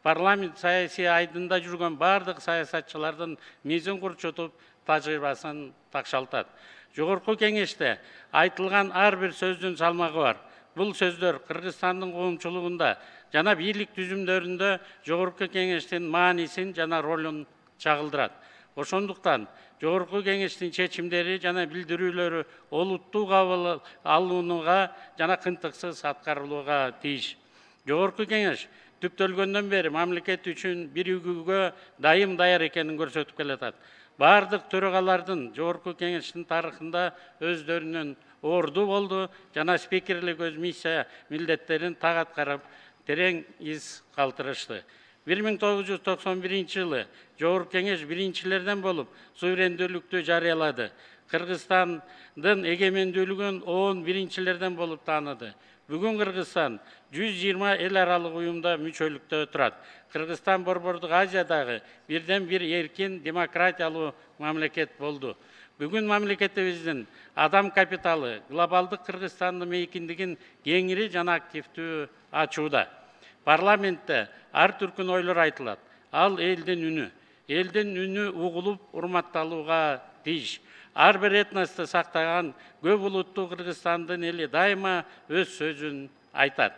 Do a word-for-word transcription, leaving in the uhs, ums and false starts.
парламент саясий айдында жүргөн бардык саясатчылардын мизин курчутуп тажрыйбасын такшалтат. Жогорку кеңеште айтылган ар бир сөздүн салмагы бар. Бул сөздөр Кыргызстандын коомчулугунда жана бийлик түзүмдөрүндө жогорку кеңештин маанисин жана ролун чагылдырат. Ошондуктан жогорку кеңештин чечимдери жана билдирүүлөрү олуттуу кабыл алынууга жана кынтыксыз аткарылууга тийиш. Жогорку кеңеш түптөлгөндөн бери мамлекет үчүн биригүүгө дайым даяр экенин көрсөтүп келатат. Бардык төрагалардын жогорку кеңештин тарыхында өздөрүнүн орду болду жана спикерлик өз миссия милдеттерин так аткарып, терең из калтырышты. бир миң тогуз жүз токсон биринчи жылы Жогорку кеңеш биринчилерден болуп суверендүүлүктү жарыялады. Кыргызстандын эгемендүүлүгүн он биринчилерден болуп тааныды. Бүгүн Кыргызстан жүз жыйырма эл аралык уюмда мүчөлүктө турат. Кыргызстан Борбордук Азиядагы бирден бир эркин демократиялуу мамлекет болду. Бүгүн мамлекетибиздин адам капиталы глобалдык Кыргызстандын мейкиндигин кеңири жана активдүү ачууда. Парламентте ар түркүн ойлор айтылат. Ал элдин үнү. Элдин үнү угулуп, урматталууга тийиш. Ар бир этносту сактаган көп улуттуу Кыргызстандын эли дайыма өз сөзүн айтат.